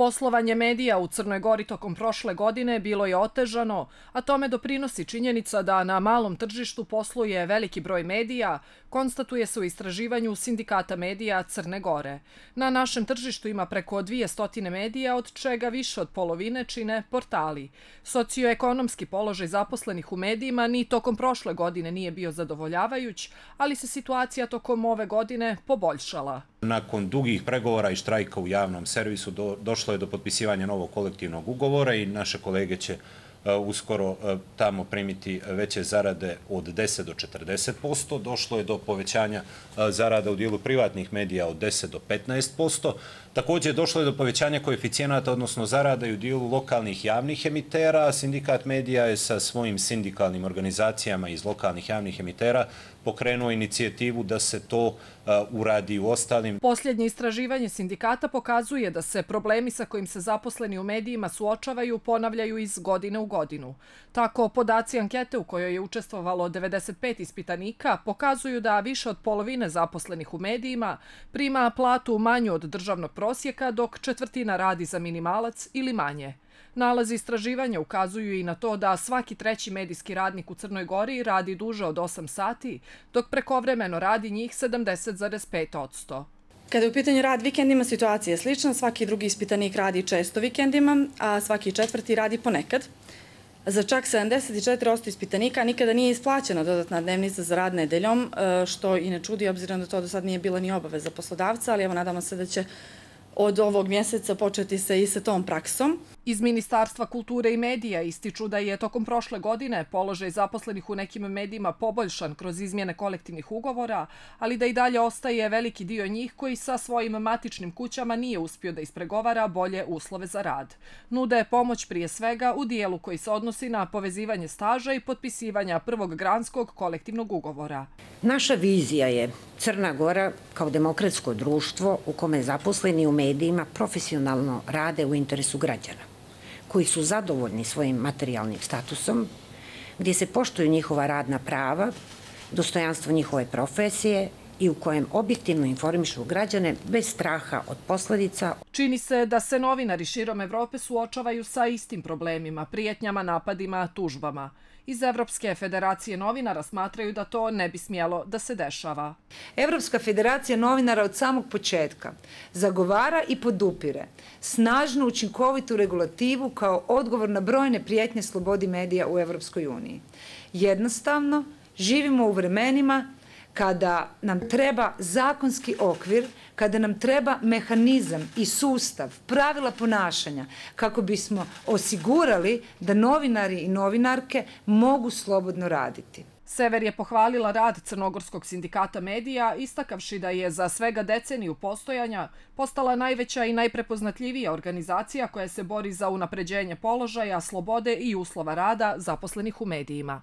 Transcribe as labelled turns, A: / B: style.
A: Poslovanje medija u Crnoj Gori tokom prošle godine bilo je otežano, a tome doprinosi činjenica da na malom tržištu posluje veliki broj medija, konstatuje se u istraživanju Sindikata medija Crne Gore. Na našem tržištu ima preko 200 medija, od čega više od polovine čine portali. Socioekonomski položaj zaposlenih u medijima ni tokom prošle godine nije bio zadovoljavajuć, ali se situacija tokom ove godine poboljšala.
B: Nakon dugih pregovora i štrajka u javnom servisu došlo je do potpisivanja novog kolektivnog ugovora i naše kolege će uskoro tamo primiti veće zarade od 10 do 40%. Došlo je do povećanja zarada u dijelu privatnih medija od 10 do 15%. Također došlo je do povećanja koeficijenata, odnosno zarada i u dijelu lokalnih javnih emitera. Sindikat medija je sa svojim sindikalnim organizacijama iz lokalnih javnih emitera pokrenuo inicijativu da se to uradi u ostalim.
A: Posljednje istraživanje sindikata pokazuje da se problemi sa kojim se zaposleni u medijima suočavaju ponavljaju iz godine u godinu. Tako, podaci ankete u kojoj je učestvovalo 95 ispitanika pokazuju da više od polovine zaposlenih u medijima prima platu manju od državnog prosjeka, dok četvrtina radi za minimalac ili manje. Nalazi istraživanja ukazuju i na to da svaki treći medijski radnik u Crnoj Gori radi duže od 8 sati, dok prekovremeno radi njih 70,5%.
C: Kada je u pitanju rad vikendima, situacija je slična. Svaki drugi ispitanik radi često vikendima, a svaki četvrti radi ponekad. Za čak 74% ispitanika nikada nije isplaćena dodatna dnevnica za rad nedeljom, što i ne čudi obzirom da to do sad nije bila ni obaveza poslodavca, ali evo nadamo se da će od ovog mjeseca početi se i sa tom praksom.
A: Iz Ministarstva kulture i medija ističu da je tokom prošle godine položaj zaposlenih u nekim medijima poboljšan kroz izmjene kolektivnih ugovora, ali da i dalje ostaje veliki dio njih koji sa svojim matičnim kućama nije uspio da ispregovara bolje uslove za rad. Nude pomoć prije svega u dijelu koji se odnosi na povezivanje staža i potpisivanja prvog granskog kolektivnog ugovora.
D: Naša vizija je Crna Gora kao demokratsko društvo u kome zaposleni u medijima profesionalno rade u interesu građana, koji su zadovoljni svojim materijalnim statusom, gdje se poštuju njihova radna prava, dostojanstvo njihove profesije i u kojem objektivno informišu građane bez straha od posljedica.
A: Čini se da se novinari širom Evrope suočavaju sa istim problemima, prijetnjama, napadima, tužbama. Iz Evropske federacije novinara smatraju da to ne bi smjelo da se dešava.
E: Evropska federacija novinara od samog početka zagovara i podupire snažnu učinkovitu regulativu kao odgovor na brojne prijetnje slobodi medija u Evropskoj uniji. Jednostavno, živimo u vremenima kada nam treba zakonski okvir, kada nam treba mehanizam i sustav, pravila ponašanja kako bismo osigurali da novinari i novinarke mogu slobodno raditi.
A: Sever je pohvalila rad Crnogorskog sindikata medija, istakavši da je za svega deceniju postojanja postala najveća i najprepoznatljivija organizacija koja se bori za unapređenje položaja, slobode i uslova rada zaposlenih u medijima.